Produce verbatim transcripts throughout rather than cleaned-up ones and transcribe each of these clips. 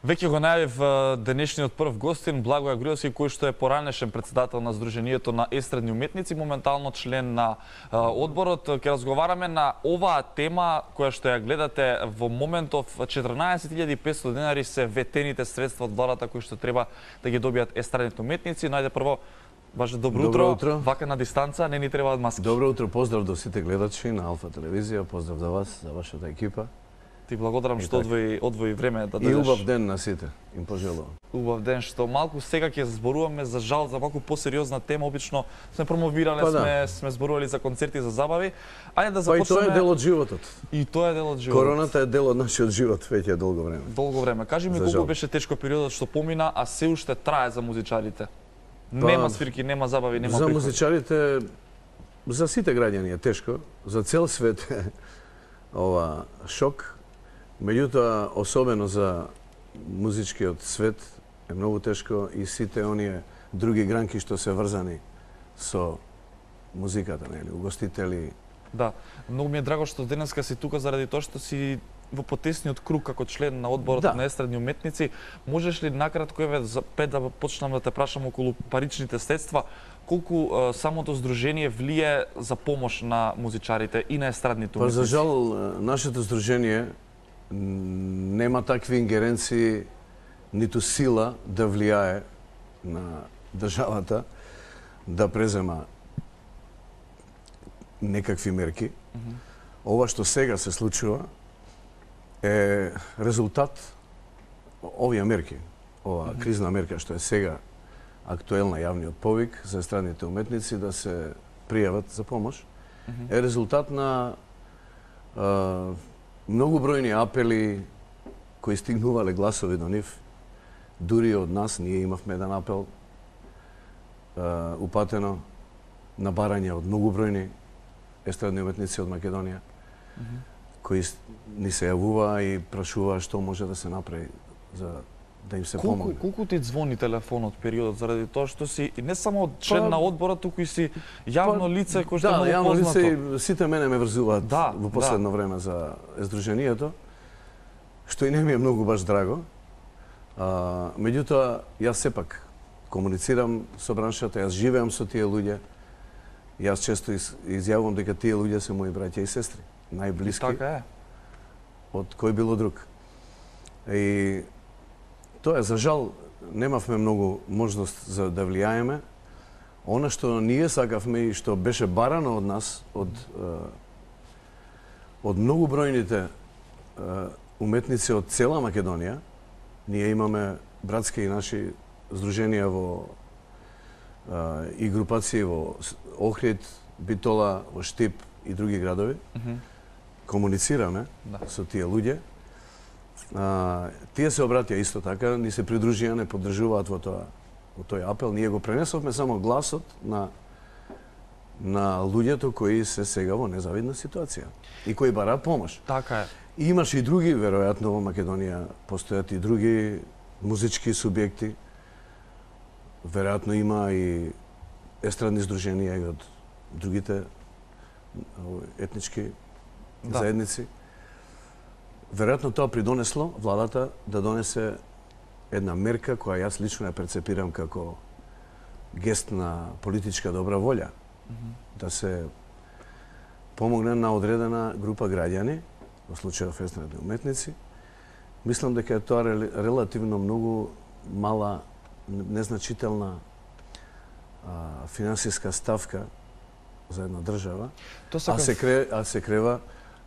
Веќе го најавив денешниот прв гостин Благоја Груевски, кој што е поранешен председател на Сдруженијето на естрадни уметници, моментално член на одборот. Ќе разговараме на оваа тема која што ја гледате во моментов. четрнаесет илјади и петстотини денари се ветените средства од владата кои што треба да ги добијат естрадните уметници. Најде прво, ваше добро утро. Добро утро. Вака на дистанца, не ни требаат маски. Добро утро, поздрав до сите гледачи на Алфа телевизија, поздрав за вас, за вашата екипа. Ти благодарам што одвои, одвои време да дојдеш. И убав дојдеш. ден на сите, им пожелувам. Убав ден, што малку сега ќе зборуваме за жал за малку посериозна тема. Обично сме промовирале, Па да. сме сме зборували за концерти, за забави. Ајде да Па и започнеме. тоа е дел од животот. И тоа е дел од животот. Короната е дел од нашиот живот веќе долго време. Долго време. Кажи ми За колку жал. беше тешко периодот што помина, а се уште трае за музичарите. Нема свирки, нема забави, нема За приходи. музичарите, за сите граѓани е тешко, за цел свет е ова шок. Меѓутоа, особено за музичкиот свет е многу тешко и сите оние други гранки што се врзани со музиката, нели, угостители. Да, многу ми е драго што денеска си тука заради тоа што си во потесниот круг како член на одборот Да. на естрадни уметници. Можеш ли накратко еве за пет да почнам да те прашам околу паричните средства, колку е, самото здружение влие за помош на музичарите и на естрадните Па уметници? за жал нашето здружение нема такви ингеренции ниту сила да влијае на државата да презема некакви мерки. Mm -hmm. Ова што сега се случува е резултат овие мерки. Ова mm -hmm. кризна мерка што е сега актуелна јавниот повик за естрадните уметници да се пријават за помош, mm -hmm. е резултат на а, многу бројни апели кои стигнувале гласови до нив. Дури од нас ние имавме еден апел а, упатено на барање од многу бројни естрадни уметници од Македонија, mm -hmm. кои ни се јавува и прашува што може да се направи за да им се колку, помогне. Колку ти звони телефонот периодот заради тоа што си не само член па, на одборот, туку и си јавно па, лице кој што да, е многу јавно познато. лице, сите мене ме врзуваат да, во последно да. време за Сдруженијето, што и не ми е многу баш драго. А, меѓутоа, јас сепак комуницирам со браншата, јас живеам со тие луѓе. Јас често из, изјавувам дека тие луѓе се мои браќа и сестри, најблиски. И така е. Од кој било друг. И тоа е, за жал, немавме многу можност за да влијаеме. Она што ние сакавме и што беше барано од нас, од, од многу бројните уметници од цела Македонија, ние имаме братски и наши здруженија во и групации во Охрид, Битола, во Штип и други градови. Mm -hmm. Комуницираме да. со тие луѓе. А, тие се обратија исто така, ни се придружија, не поддржуваат во тоа во тој апел. Ние го пренесовме само гласот на на луѓето кои се сега во незавидна ситуација и кои бараат помош. Така е. И имаше и други, веројатно во Македонија постојат и други музички субјекти. Веројатно има и естрадни здруженија и од другите етнички да. заедници. Веројатно тоа придонесло владата да донесе една мерка која јас лично ја перцепирам како гест на политичка добра волја. Mm -hmm. Да се помогне на одредена група граѓани, во случајот естрадни уметници. Мислам дека е тоа релативно многу мала, незначителна а, финансиска ставка за една држава, а се кре, а се крева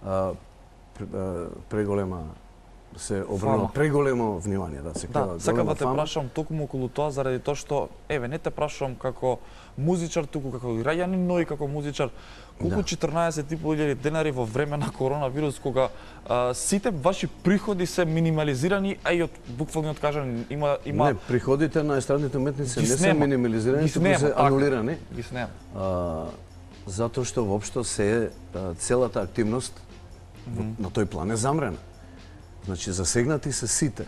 а, преголема се обрнува преголемо внимание, да се крева. Да, сакам да те прашам токму околу тоа заради тоа што еве не те прашувам како музичар, туку како граѓанин, но и како музичар. Колку да. четрнаесет и пол илјади денари во време на коронавирус, кога а, сите ваши приходи се минимализирани, а и од буквално кажан има има Не, приходите на естрадните уметници не се минимализирани, туку се така, анулирани. Ги снема. А, затоа што воопшто се целата активност mm -hmm. на тој план е замрена. Значи засегнати се сите.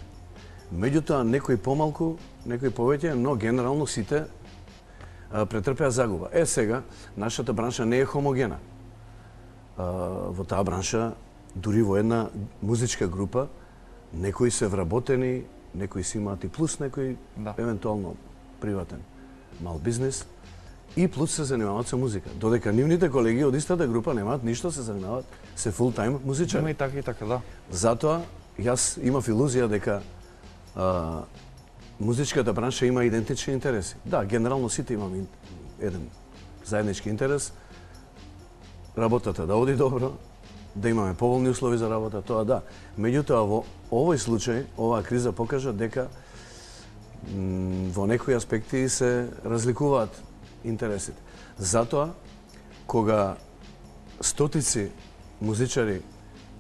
Меѓутоа некои помалку, некои повеќе, но генерално сите а, претрпеа загуба. Е сега нашата бранша не е хомогена. А, во таа бранша дури во една музичка група некои се вработени, некои си имаат и плюс, некои Да. евентуално приватен мал бизнес, и плюс се занимаваат со музика. Додека нивните колеги од истата група немаат ништо, се занимаваат, се фул-тајм музичари. Има и така и така, да. Затоа, јас имав илузија дека а, музичката бранша има идентични интереси. Да, генерално сите имаме еден заеднички интерес, работата да оди добро, да имаме поволни услови за работа, тоа да. Меѓутоа, во овој случај, оваа криза покажа дека м, во некои аспекти се разликуваат интересите. Затоа, кога стотици музичари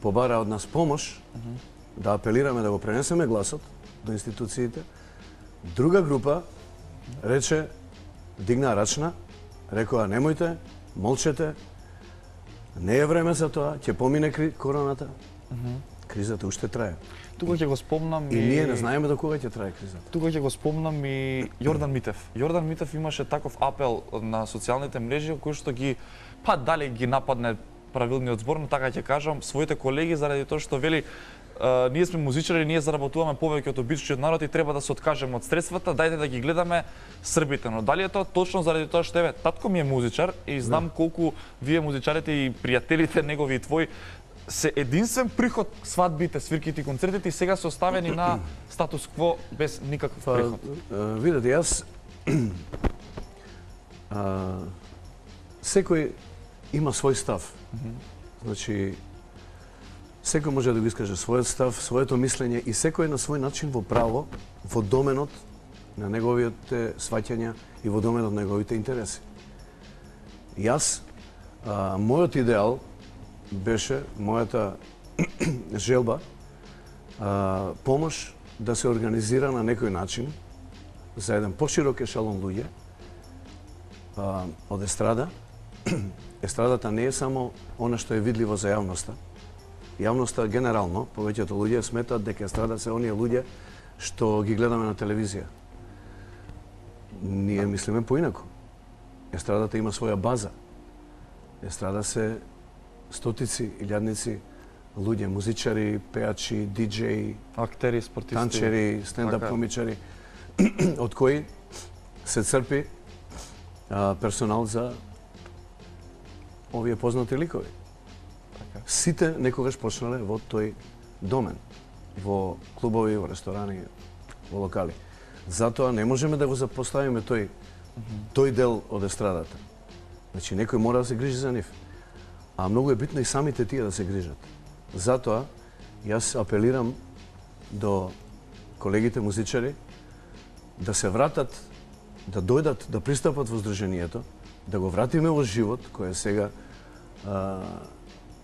побара од нас помош, да апелираме да го пренесеме гласот до институциите, друга група рече, дигна рачна, рекоа немојте, молчете, не е време за тоа, ќе помине кри... короната. Кризата уште трае. Тука ќе го спомнам И ние не знаеме до кога ќе трае кризата. Тука ќе го спомнам и Јордан Митев. Јордан Митев имаше таков апел на социјалните мрежи кој што ги па дали ги нападне правилниот збор, но така ќе кажам своите колеги заради тоа што вели Uh, ние сме музичари, ние заработуваме повеќе од обичниот народ и треба да се откажеме од средствата, дајте да ги гледаме србите. Но дали е тоа точно заради тоа што еве татко ми е музичар и знам колку вие музичарите и пријателите негови и твои се единствен приход свадбите, свирките и концертите и сега се оставени на статус кво без никаков Па, приход. а, видете, јас а, секој има свој став. Значи, секој може да го искаже својот став, своето мислење и секој на свој начин во право, во доменот на неговите сваќања и во доменот на неговите интереси. Јас, а, мојот идеал беше, мојата желба, а, помош да се организира на некој начин за еден поширок ешалон луѓе а, од естрада. Естрадата не е само она што е видливо за јавноста. Јавноста генерално, повеќето луѓе сметаат дека естрада се оние луѓе што ги гледаме на телевизија. Ние мислиме поинаку. Естрадата има своја база. Естрада се стотици, илјадници луѓе, музичари, пеачи, диџеи, Актери, спортисти, танчери, стендап така. комичари, од кои се црпи а, персонал за овие познати ликови. Сите некогаш почнале во тој домен, во клубови, во ресторани, во локали. Затоа не можеме да го запоставиме тој тој дел од естрадата. Значи некој мора да се грижи за нив. А многу е битно и самите тие да се грижат. Затоа јас апелирам до колегите музичари да се вратат, да дојдат, да пристапат во здруженијето, да го вратиме во живот, кој е сега а,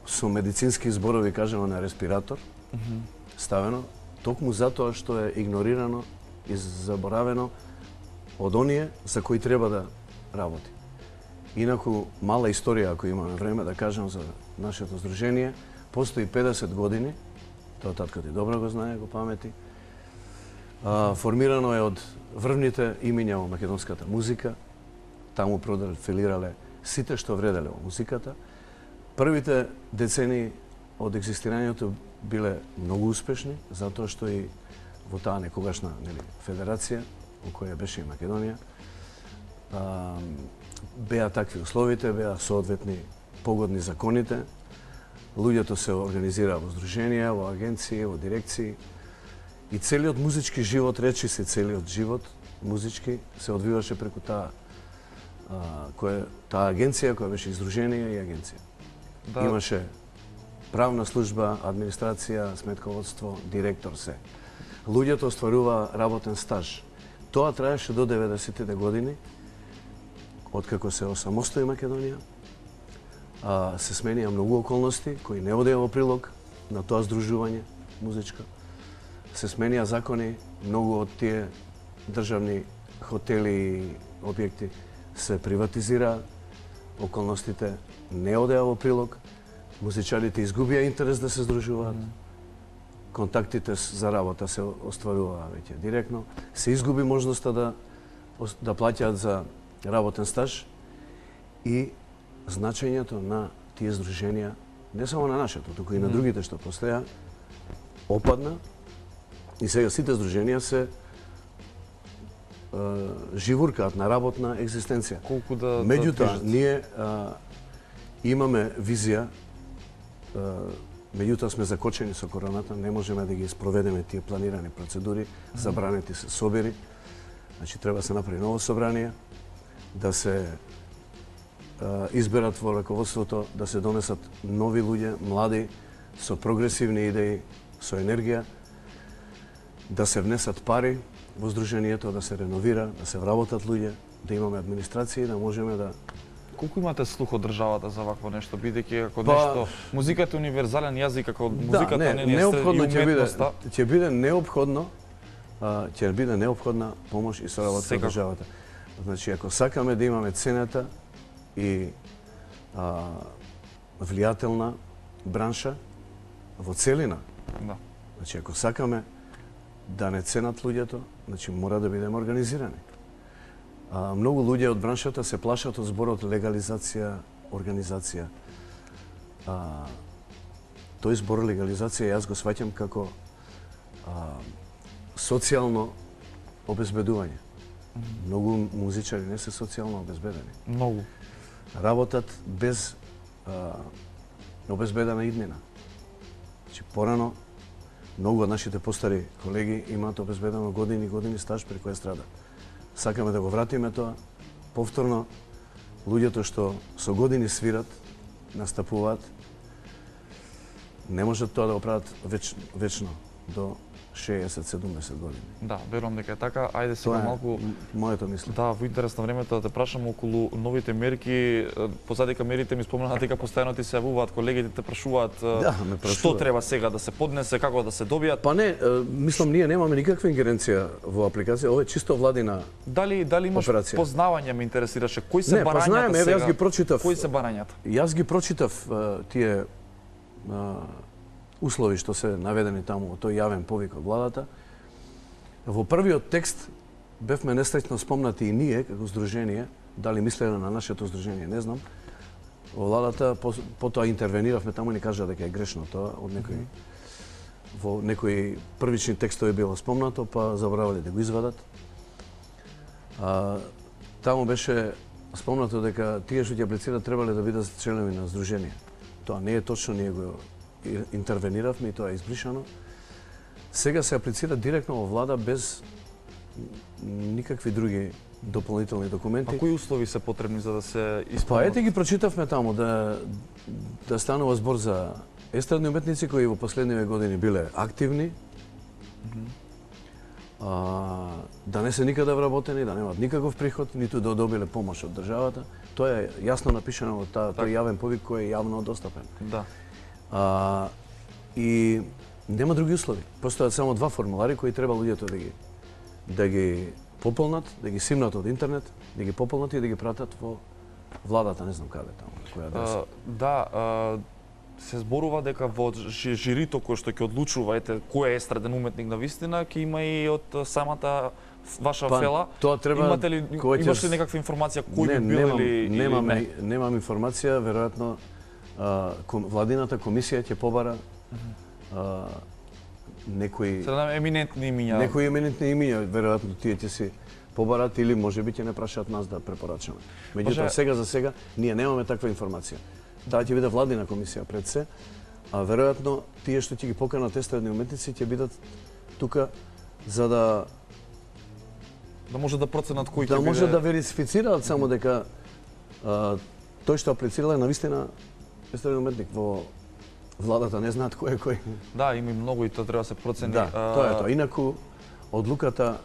со медицински зборови кажано на респиратор, mm -hmm. ставено, токму затоа што е игнорирано и заборавено од оние за кои треба да работи. Инаку, мала историја, ако имаме време да кажам за нашето здружение, постои педесет години, тоа татко ти добро го знае, го памети. А, формирано е од врвните имиња во македонската музика, таму профилирале сите што вределе во музиката. Првите децени од екзистирањето биле многу успешни, затоа што и во таа некогашна нели, федерација, во која беше и Македонија, а, беа такви условите, беа соодветни погодни законите, луѓето се организираа во здруженија, во агенции, во дирекции и целиот музички живот, речи се целиот живот музички, се одвиваше преку таа а, која, таа агенција која беше издружение и агенција. Да. Имаше правна служба, администрација, сметководство, директор се. Луѓето остваруваа работен стаж. Тоа траеше до деветдесетите години, откако се осамостои Македонија. А, се сменија многу околности кои не одеа во прилог на тоа здружување музичко. Се сменија закони, многу од тие државни хотели и објекти се приватизираа, околностите не одеа во прилог, музичарите изгубија интерес да се здружуваат, контактите за работа се остваруваа веќе директно, се изгуби можноста да, да плаќаат за работен стаж и значењето на тие здруженија, не само на нашето, туку и на другите што постоја, опадна И сега сите здруженија се живуркаат на работна екзистенција. Колку да Меѓутоа, да ние а, имаме визија, а, меѓутоа сме закочени со короната, не можеме да ги спроведеме тие планирани процедури, забранети се собери. Значи треба да се направи ново собрание, да се а, изберат во раководството, да се донесат нови луѓе, млади, со прогресивни идеи, со енергија, да се внесат пари во здруженијето, да се реновира, да се вработат луѓе, да имаме администрација и да можеме да... Колку имате слух од државата за вакво нешто, бидејќи како Па... нешто музиката е универзален јазик, како музиката да, не, не не е неопходно ќе биде, уметноста. ќе биде неопходно, а, ќе биде неопходна помош и соработка од државата. Значи, ако сакаме да имаме цената и а, влијателна бранша во целина, Да. значи ако сакаме да не ценат луѓето, значи мора да бидеме организирани. А, многу луѓе од браншата се плашат од зборот легализација, организација. А, тој збор легализација јас го сваќам како а, социјално обезбедување. Многу музичари не се социјално обезбедени. Многу. Работат без а, обезбедена иднина. Значи, порано, многу од нашите постари колеги имаат обезбедено години и години стаж преку естрада. Сакаме да го вратиме тоа. Повторно, луѓето што со години свират, настапуваат, не можат тоа да го прават веч, вечно, до шеесет седумдесет години. Да, верувам дека е така. Ајде сега Тоа е малку моето мислење. да, во интерес на времето да те прашам околу новите мерки. Позадека мерите ми спомнаа дека постојано ти се јавуваат колегите, те прашуваат Да, ме што прашуваат. треба сега да се поднесе, како да се добијат. Па не, мислам, ние немаме никаква ингеренција во апликација, ова е чисто владина. Дали дали имаш операција. познавање, ме интересираше. Кои се Не, барањата познаеме, еве, сега? јас ги прочитав. Кои се барањата? Јас ги прочитав а, тие а, услови што се наведени таму во тој јавен повик од владата. Во првиот текст бевме несреќно спомнати и ние како здружение, дали мислеле на нашето здружение, не знам. Во владата по, потоа интервениравме таму и ни кажа дека е грешно тоа од некои mm -hmm. во некои првични текстови било спомнато, па заборавале да го извадат. А, таму беше спомнато дека тие што ќе аплицираат требале да бидат членови на здружение. Тоа не е точно, ние го интервениравме и тоа е избришано. Сега се аплицира директно во влада без никакви други дополнителни документи. А кои услови се потребни за да се Па исполнат? ете ги прочитавме таму да да станува збор за естрадни уметници кои во последниве години биле активни. Mm -hmm. а, да не се никаде вработени, да немаат никаков приход, ниту да добиле помош од државата. Тоа е јасно напишано во таа тој јавен повик кој е јавно достапен. Да. А, и нема други услови. Постојат само два формулари кои треба луѓето да ги да ги пополнат, да ги симнат од интернет, да ги пополнат и да ги пратат во владата, не знам каде таму, која адреса. Uh, да, uh, се зборува дека во жи- жирито кој што ќе одлучува ете кој е естраден уметник на вистина, ќе има и од самата ваша Па, фела. тоа треба Имате ли кој ќе имаш с- ли некаква информација кој не, би бил немам, или немам, или не? немам информација, веројатно а, ком, владината комисија ќе побара а, некои Се надам еминентни имиња. некои еминентни имиња, веројатно тие ќе си побарат или можеби ќе не прашаат нас да препорачаме. Меѓутоа, Може- сега за сега ние немаме таква информација. Таа ќе биде владина комисија пред се, а веројатно тие што ќе ги поканат естрадни уметници ќе бидат тука за да да може да проценат кој да ќе може биде... да верифицираат само дека а, тој што аплицирал е навистина естраден уметник. Во владата не знаат кој е кој. Да, има и многу и тоа треба да се процени. Да, А, тоа е тоа. Инаку одлуката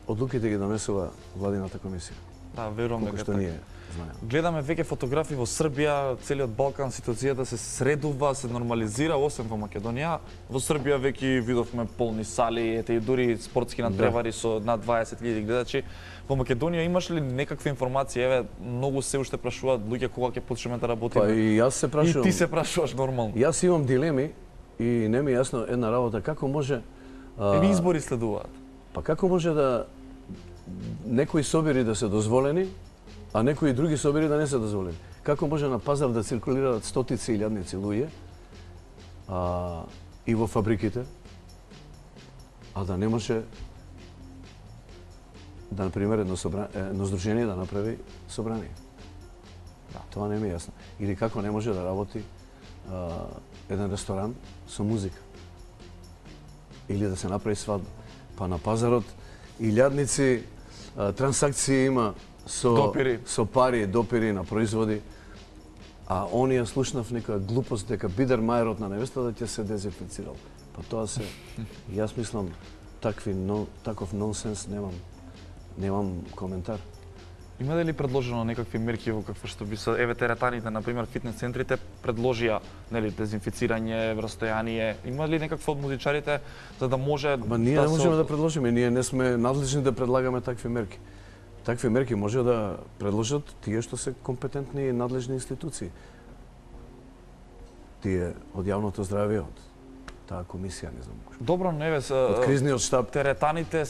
одлуките ги донесува владината комисија. Да, верувам Колку дека што така. ние знаеме. Гледаме веќе фотографии во Србија, целиот Балкан, ситуацијата се средува, се нормализира, освен во Македонија. Во Србија веќе видовме полни сали, ете и дури спортски надпревари со над дваесет илјади гледачи. Во Македонија имаш ли некаква информација? Еве, многу се уште прашуваат луѓе кога ќе почнеме да работиме. Па и јас се и прашувам. ти се прашуваш нормално. Јас имам дилеми и не ми е јасно една работа како може а, Еви избори следуваат. па како може да некои собири да се дозволени, а некои други собири да не се дозволени. Како може на пазар да циркулираат стотици илјадници луѓе а, и во фабриките, а да не може да, например, едно, собра... едно здружение да направи собрание. Да. Тоа не ми е јасно. Или како не може да работи а, еден ресторан со музика. Или да се направи свадба. Па на пазарот илјадници а, трансакции има со, допири. со пари, допири на производи, а оние слушнав некоја глупост дека Бидермајерот на невестата ќе се дезинфицирал. Па тоа се, јас мислам, такви, но, таков нонсенс немам, немам коментар. Има ли предложено некакви мерки во какво што би се, еве теретаните, например, фитнес центрите предложија, нели, дезинфицирање, растојание. Има ли некакво од музичарите за да може Ма ние да не можеме се... да предложиме, ние не сме надлежни да предлагаме такви мерки. Такви мерки може да предложат тие што се компетентни и надлежни институции. Тие од јавното здравје, од таа комисија, не знам. Добро, не ве, Од кризниот штаб. теретаните,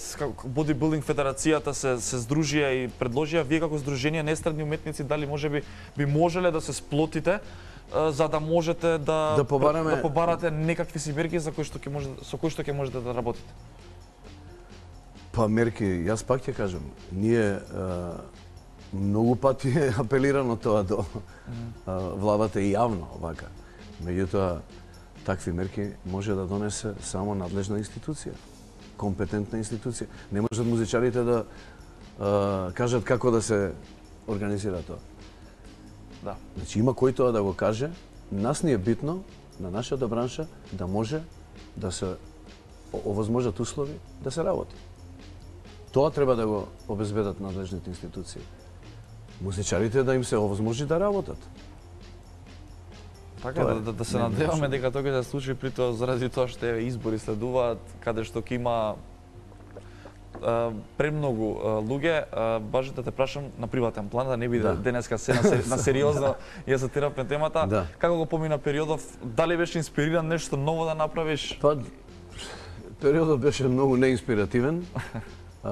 бодибилдинг федерацијата се се здружија и предложија, вие како здружение на естрадни уметници дали можеби би можеле да се сплотите за да можете да Да побараме- да побарате некакви си мерки за кои што ќе може со кои што ќе можете да работите. Па мерки, јас пак ќе кажам, ние а, многу пати е апелирано тоа до а, владата и јавно вака. Меѓутоа, такви мерки може да донесе само надлежна институција, компетентна институција. Не можат музичарите да а, кажат како да се организира тоа. Да. Значи има кој тоа да го каже, нас ни е битно на нашата бранша да може да се овозможат услови да се работи. Тоа треба да го обезбедат надлежните институции. Музичарите да им се овозможи да работат. Така Тоа е да, да, да се нема надеваме нешто. дека тоа ќе се случи при тоа заради тоа што еве избори следуваат каде што ќе има а, премногу а, луѓе, а, баш да те прашам на приватен план, да не биде Да. денеска се на, сери, на сериозно ја затирапме темата. Да. Како го помина периодов, дали беше инспириран нешто ново да направиш? Па, периодот беше многу неинспиративен. А,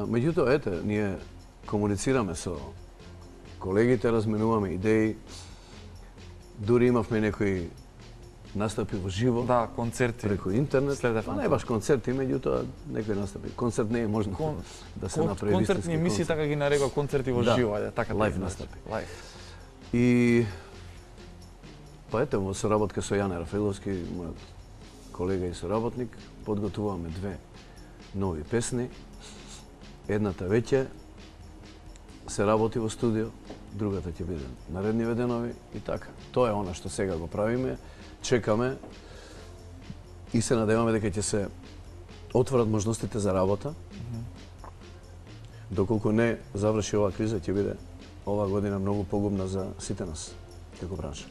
меѓутоа, ете, ние комуницираме со колегите, разменуваме идеи. Дури имавме некои настапи во живо, Да, концерти. преку интернет. Следев Па на не тоа. баш концерти, меѓутоа некои настапи. Концерт не е можно Кон- да се Кон, направи концертни вистински емисии, концерт. така ги нарекува концерти во Да. живо, ајде, така Лајв да ги настапи. Лајв. И па ете, во соработка со Јане Рафаиловски, мојот колега и соработник, подготуваме две нови песни. Едната веќе се работи во студио, другата ќе биде наредни денови и така. Тоа е она што сега го правиме, чекаме и се надеваме дека ќе се отворат можностите за работа. Доколку не заврши оваа криза, ќе биде оваа година многу погубна за сите нас како бранша.